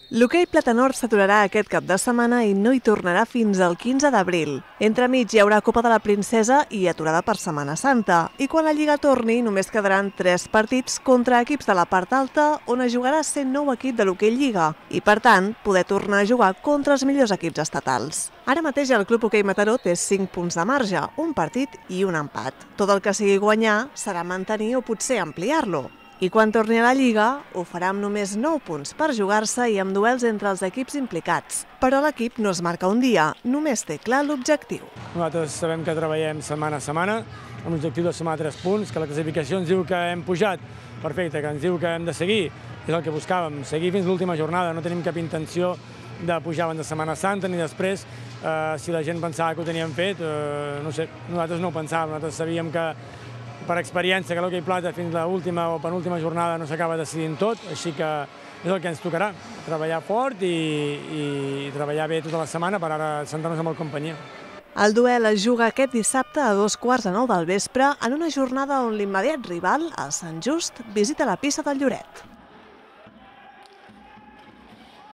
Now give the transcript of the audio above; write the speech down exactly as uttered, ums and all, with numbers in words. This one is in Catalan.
L'hoquei Platanor s'aturarà aquest cap de setmana i no hi tornarà fins al quinze d'abril. Entremig hi haurà Copa de la Princesa i aturada per Setmana Santa. I quan la Lliga torni, només quedaran tres partits contra equips de la part alta, on es jugarà sent nou equip de l'hoquei Lliga i, per tant, poder tornar a jugar contra els millors equips estatals. Ara mateix el Club Hoquei Mataró té cinc punts de marge, un partit i un empat. Tot el que sigui guanyar serà mantenir o potser ampliar-lo. I quan torni a la Lliga, ho farà amb només nou punts per jugar-se i amb duels entre els equips implicats. Però l'equip no es marca un dia, només té clar l'objectiu. Nosaltres sabem que treballem setmana a setmana, amb l'objectiu de sumar tres punts, que la classificació ens diu que hem pujat, perfecte, que ens diu que hem de seguir, és el que buscàvem, seguir fins l'última jornada, no tenim cap intenció de pujar abans de Setmana Santa ni després, eh, si la gent pensava que ho teníem fet, eh, no sé, nosaltres no ho pensàvem, nosaltres sabíem que per experiència que l'hoquei plata fins a l'última o penúltima jornada no s'acaba decidint tot, així que és el que ens tocarà, treballar fort i, i treballar bé tota la setmana per ara sentar-nos amb el companyia. El duel es juga aquest dissabte a dos quarts de nou del vespre en una jornada on l'immediat rival, el Sant Just, visita la pista del Lloret.